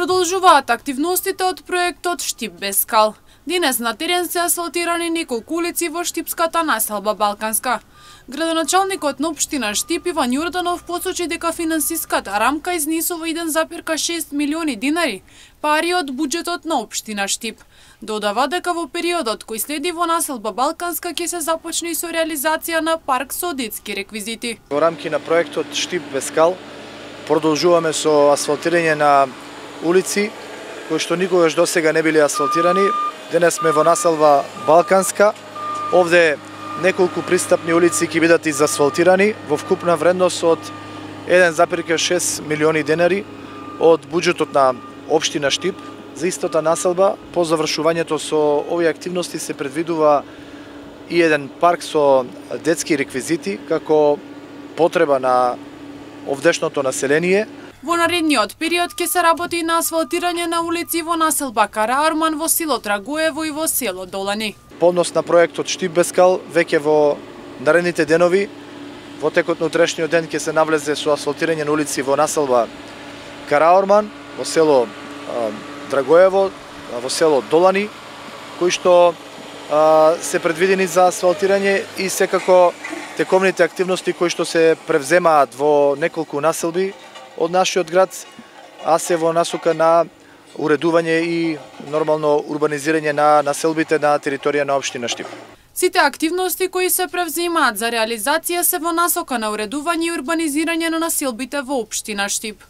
Продолжуваат активностите од проектот Штип без скал. Денес на терен се асфалтирани неколку улици во штипската населба Балканска. Градоначалникот на општина Штип Иван Јорданов посочи дека финансиската рамка изнесува 1,6 милиони динари, пари од буџетот на општина Штип. Додава дека во периодот кој следи во населба Балканска ќе се започне со реализација на парк со детски реквизити. Во рамки на проектот Штип без скал продолжуваме со асфалтирање на улици кои што никогаш досега не биле асфалтирани. Денес сме во населба Балканска. Овде неколку пристапни улици ќе бидат изасфалтирани во вкупна вредност од 1,6 милиони денари од буџетот на општина Штип за истата населба. По завршувањето со овие активности се предвидува и еден парк со детски реквизити како потреба на овдешното население. Во наредниот период ќе се работи на асфалтирање на улици во населба Караорман, во село Драгоево и во село Долани. По однос на проектот Штип без скал, веќе во наредните денови, во текот на утрешниот ден ќе се навлезе со асфалтирање на улици во населба Караорман, во село Драгоево, во село Долани, кои што се предвидени за асфалтирање и секако тековните активности кои што се превземаат во неколку населби од нашиот град, а се во насока на уредување и нормално урбанизирање на населбите на територија на општина Штип. Сите активности кои се превземаат за реализација се во насока на уредување и урбанизирање на населбите во општина Штип.